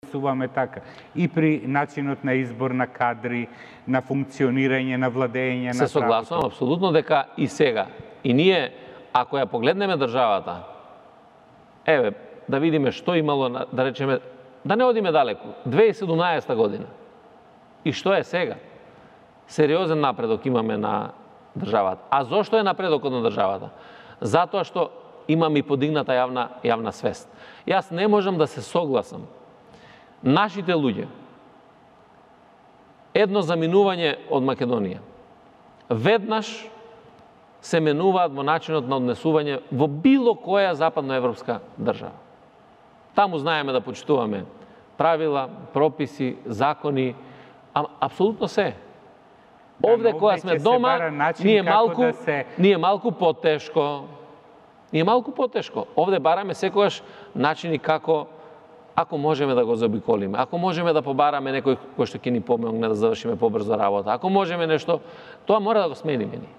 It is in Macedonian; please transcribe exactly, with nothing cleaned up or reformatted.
суваме така. И при начинот на избор на кадри, на функционирање, на владење, на Се согласувам апсолутно дека и сега. И ние, ако ја погледнеме државата, еве, да видиме што имало, да речеме, да не одиме далеку, две илјади и седумнаесета година. И што е сега? Сериозен напредок имаме на државата. А зошто е напредокот на државата? Затоа што имаме и подигната јавна, јавна свест. Јас не можам да се согласам. Нашите луѓе, едно заминување од Македонија, веднаш се менуваат во начинот на однесување во било која западноевропска држава. Таму знаеме да почитуваме правила, прописи, закони, а, апсолутно се. Овде кога сме дома, ние малку, да се... ние малку потешко, ние малку потешко. Овде бараме секогаш начини како, ако можеме да го заобиколиме, ако можеме да побараме некој кој што ќе ни помогне да завршиме побрзо работа, ако можеме нешто, тоа мора да го смениме ни.